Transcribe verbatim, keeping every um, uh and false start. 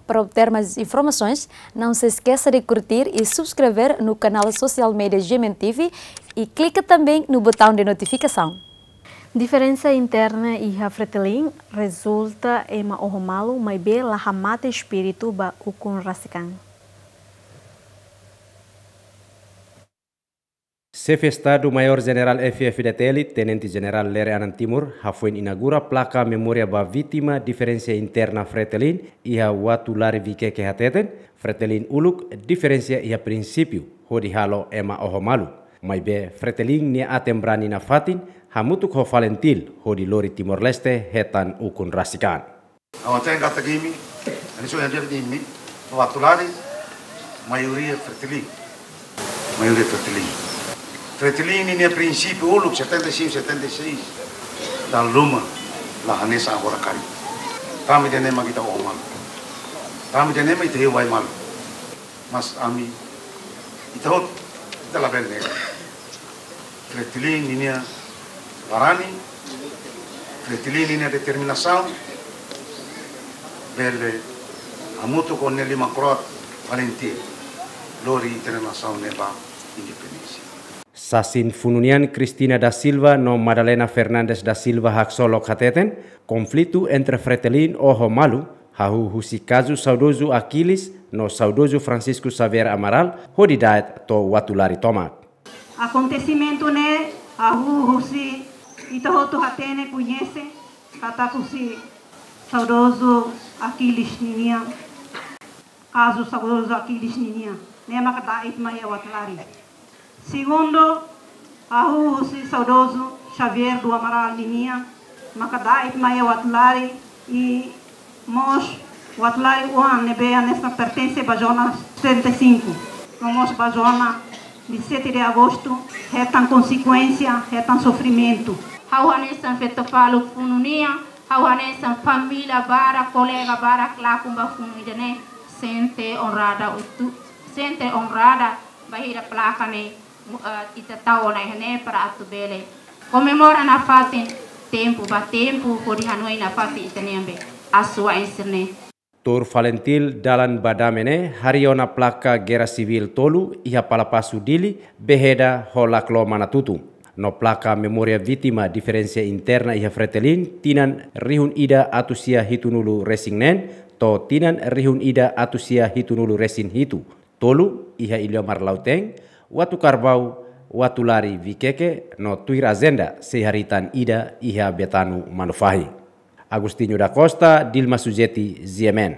Para obter mais informações, não se esqueça de curtir e subscrever no canal social media G M N T V e clica também no botão de notificação. Diferensa interna iha Fretilin rezulta ema oho malu, maibé la hamate espíritu ba ukun rasik an. Xefe Estadu Maiór Jenerál F F D T L, Tenente Jenerál Lere Anan Timur, hafoin inaugura plaka memória ba vítima diferensa interna Fretilin iha Uatulari Viqueque hateten, Fretilin uluk diferensa iha prinsípiu hodi halo ema oho malu. Maibé Fretilin nia aten brani nafatin hamutuk ho FALINTIL hodi lori Timor-Leste hetan ukun rasik an. Ha'u hatene katak imi, hanesan ohin ha'u dehan imi, Uatulari, maioria Fretilin. Maioria Fretilin. Fretilin ninia prinsípiu uluk setenta e cinco, setenta e seis, dala ruma la hanesan agora karik. Tanba ida-ne'e mak ita oho malu. Tanba ida-ne'e mak ita iha wai malu. Mas ami, ita hotu, ita labele nega. Fretilin ninia barani, Fretilin ninia determinasaun, bele hamutuk ho nia liman kro'at FALINTIL, lori ita-nia nasaun ne'e ba independénsia. Sasin funu nian Cristina da Silva no Madalena Fernandes da Silva haksolok hateten, konflitu entre Fretilin oho malu, hahú husi kazu saudozu Aquiles no saudozu Francisco Xavier Amaral, hodi da'et to'o Uatulari tomak. Akontesimentu ne'e hahú husi ita hotu hatene koñese katak husi saudozu Aquiles ninian, kazu saudozu Aquiles ninian, ne'e maka da'et mai iha Uatulari. Segundu, hahú husi saudozu Xavier do Amaral ninian, maka da'et mai iha Uatulari i mós Uatulari oan ne'ebé hanesan pertense ba zona setenta e cinco. No mós ba zona de sete de agosto, hetan konsekuénsia, hetan sofrimentu. Ha'u hanesan feto faluk funu nian, ha'u hanesan família barak, kolega barak lakon ba funu ida-ne'e, sente onrada utu, sente onrada, bainhira plaka ne'e, mu-, eh, ita tau ona iha ne'e para atu bele komemora nafatin tempu ba tempu, hodi hanoin nafatin ita-nia be asuwa'in sira-ne'e. Tuir FALINTIL dalan ba dame ne'e harii ona plaka Guerra Civil tolu iha Palapasu Dili, Beheda ho Laclo Manatutu. No plaka memória vítima diferensa interna iha Fretilin tinan rihun ida atus sia hitunulu resin neen to'o tinan rihun ida atus sia hitunulu resin hitu, tolu iha Iliomar Lautém, Uatucarbau, Uatulari Viqueque, no tuir ajenda sei harii tan ida iha Betano Manufahi. Agostinho da Costa, Dilma Sujeti, G M N.